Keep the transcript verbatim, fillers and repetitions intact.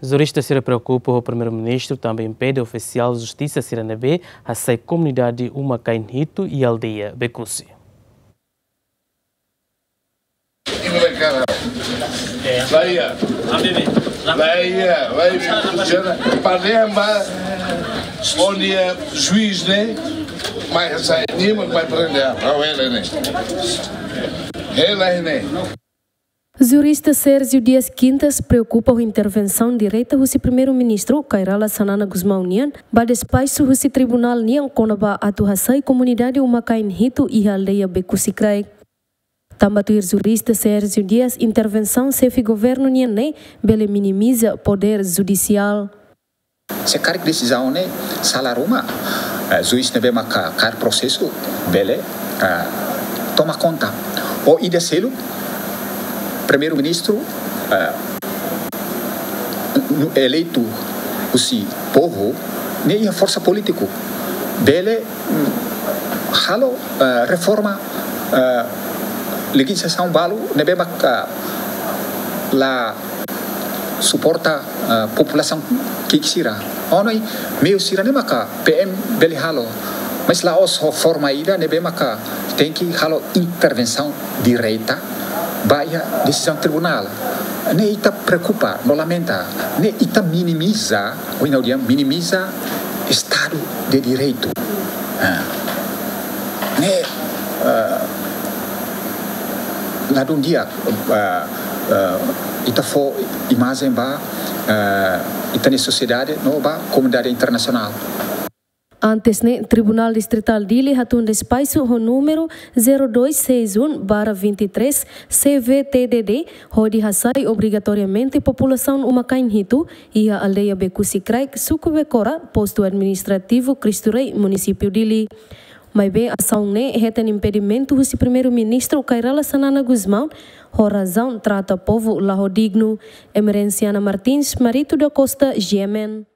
Jurista sira preokupa ho Primeiru-Ministru tanba impede ofisiál justisa sira ne'ebé hasai komunidade uma-kain hitu iha aldeia Bekusi. Laia, laia, laia, para lembrar, onde é juiz, né? Mas sai, nem mais para ele, para ele, né? Ele, né? Jurista Sérgio Dias Quintas preokupa ho intervensaun direta husi Primeiru-Ministru Kay Rala Xanana Gusmão nian ba despaxu husi tribunál nian kona-ba atu hasai komunidade uma-kain hitu iha aldeia Bekusi Kraik. Tanba tuir jurista Sérgio Dias, intervensaun xefe governu nian ne'e bele minimiza podér judisiál. Se karik desizaun ne'e sala ruma, eh, juiz ne'ebé maka kaer prosesu bele, eh, toma konta. Ou ida seluk, Primeiru-Ministru, eh, nu-, eleitu husi povu, ne'e iha forsa polítiku, bele, mm, halo, eh, reforma, eh, lejizlasaun balu ne'ebé maka la suporta, eh, populasaun ki'ik sira. Ohin meiu sira ne'e maka P M bele halo. Mas la'ós ho forma ida ne'ebé maka tenke halo intervensaun direta ba iha desizaun tribunál. Ne'e ita preokupa no lamenta. Ne'e ita minimiza, ou ita dehan minimiza Estadu de Direitu. Ah. Ne'e, eh, ladún di'ak, eh, eh, ita fó imajen ba, eh, ita-nia sosiedade no ba komunidade internasionál. Antes ne'e, Tribunál Distritál Dili hatún despaxu ho númeru zero dois seis um barra vinte e três C V T D D, hodi hasai obrigatoriamente populasaun uma-kain hitu iha aldeia Bekusi Kraik, suku Bekora, postu administrativu Cristo Rei, munisípiu Dili. Maibé asaun ne'e hetan impedimentu husi Primeiru-Ministru Kay Rala Xanana Gusmão, ho razaun trata povu la ho dignu. Emerenciana Martins, Marito da Costa, G M N.